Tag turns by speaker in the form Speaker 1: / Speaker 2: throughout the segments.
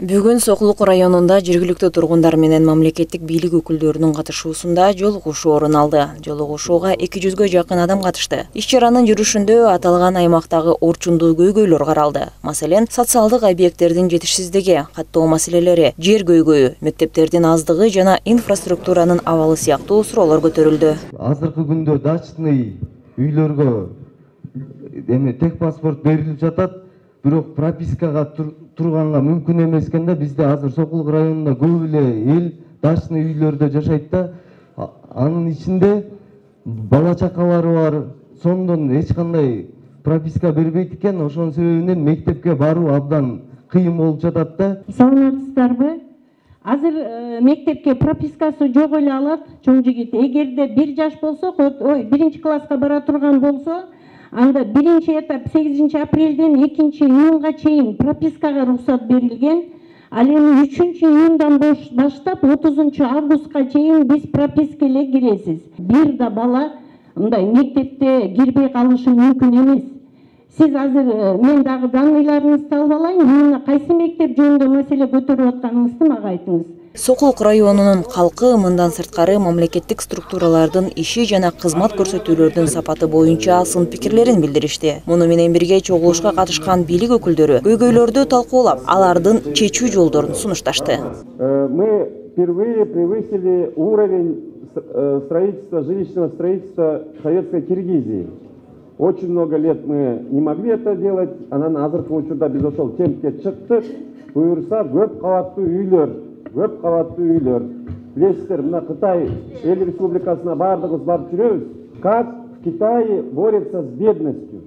Speaker 1: Бүгүн Сокулук районунда жергиликтүү тургундар менен мамлекеттик бийлик өкүлдөрүнүн катышуусунда жолугушуу орун алды. Жолугушууга 200гө жакын адам катышты. Иш-чаранын жүрүшүндө аталган аймактагы орчундуу көйгөйлөр каралды. Маселен, социалдык объекттердин жетишсиздиги, каттоо маселелери, жер көйгөйү, мектептердин аздыгы жана инфраструктуранын абалы сыяктуу суроолор көтөрүлдү.
Speaker 2: Азыркы күндө дачный үйлөргө техпаспорт берилип жатат. Бирок пропискага турганга мүмкүн эмес экен да. Бизде азыр Сокулук районунда көп эле эл дачный үйлөрдө жашайт да. Анын ичинде бала чакалары бар. Сондон эч кандай прописка бербейт экен. Ошонун себебинен мектепке баруу абдан кыйын болуп жатат да.
Speaker 3: Саламатсыздарбы? Азыр мектепке пропискасы жок эле алат чоң жигит. Эгерде 1 жаш болсо, 1 класска бара турган болсо, анда 1 этап 8 апрелден 2 июнга чейин пропискага уруксат берилген. Ал эми 3 июндан баштап 30 августка чейин биз прописка эле киресиз. Бир да бала мындай мектепте кирбей калышы мүмкүн эмес. Сиз азыр мен дагы данныйларыңызды алып алайын. Мына кайсы мектеп жөнүндө маселе көтөрүп атканыңызды мага айтыңыз.
Speaker 1: Сокулук районунун калкы мындан сырткары мамлекеттик структуралардын иши жана кызмат көрсөтүүлөрдүн сапаты боюнча сын пикирлерин билдиришти. Муну менен бирге чогулушка катышкан бийлик өкүлдөрү көйгөйлөрдү талкуулап, алардын чечүү жолдорун сунушташты.
Speaker 4: Мы впервые превысили уровень строительства, жилищного строительства советской Киргизии. Очень много лет мы не могли это делать. Анан азыркы учурда биз ошол темпке чыктык. Буюрса көп кабаттуу үйлөр. Билесиздер, мына Кытай эл республикасына бардыгыбыз барып жүрөбүз. Как в Китае борются с бедностью.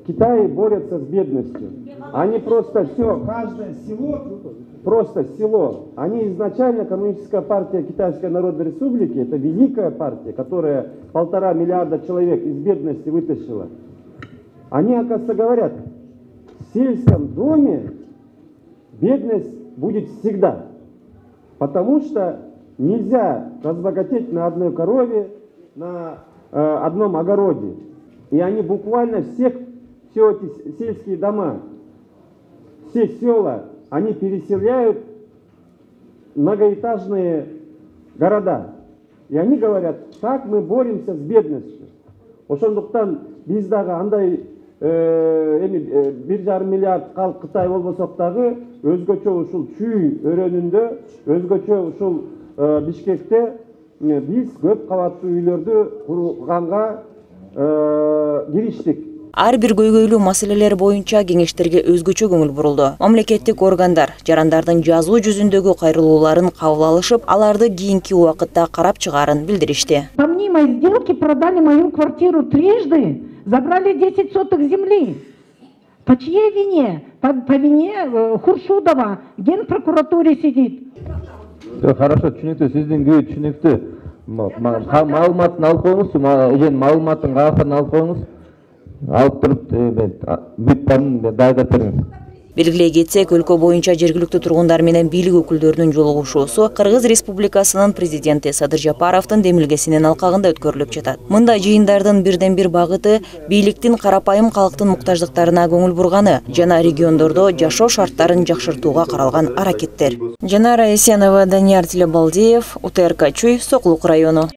Speaker 4: Китай борется с бедностью. Они просто все, каждое село. Они изначально Коммунистическая партия Китайской Народной Республики, это великая партия, которая 1,5 миллиарда человек из бедности вытащила. Они, оказывается, говорят, в сельском доме бедность будет всегда. Потому что нельзя разбогатеть на одной корове, на одном огороде. И они буквально все эти сельские дома, все села, они переселяют в многоэтажные города. И они говорят, так мы боремся с бедностью. Ошондуктан биз дагы андай 1,5 миллиард калк Кытай болбосок дагы өзгөчө ушул Чүй өрөөнүндө, өзгөчө ушул Бишкекте биз көп кабаттуу үйлөрдү курганга кириштик.
Speaker 1: Ар бир көйгөйлүү маселелер боюнча кеңештерге өзгөчө көңүл бурулду. Мамлекеттик органдар жарандардын жазуу жүзүндөгү кайрылууларын кабыл алышып, аларды кийинки убакытта карап чыгаарын билдиришти.
Speaker 3: По мне мои сделки продали мою квартиру трижды, забрали 10 соток земли. По чьей вине? По вине Хуршудова, Генпрокуратуре сидит.
Speaker 2: Хорошо, түшүнүктүү, сиздин күйөө түшүнүктүү. Маалыматын алып коюңуз, маалыматтын кагазын алып коюңуз. Алып туруп бүт дайгап бериңиз.
Speaker 1: Белгилей кетсек, өлкө боюнча жергиликтүү тургундар менен бийлик өкүлдөрүнүн жолугушуусу Кыргыз Республикасынын президенти Садыр Жапаровдун демилгесинин алкагында өткөрүлүп жатат. Мында жыйындардын бирден бир багыты бийликтин карапайым калктын муктаждыктарына көңүл бурганы жана региондордо жашоо шарттарын жакшыртууга каралган аракеттер. Жанара Эсенова, Данияр Тилебалдиев, УТРК Чүй, Сокулук району.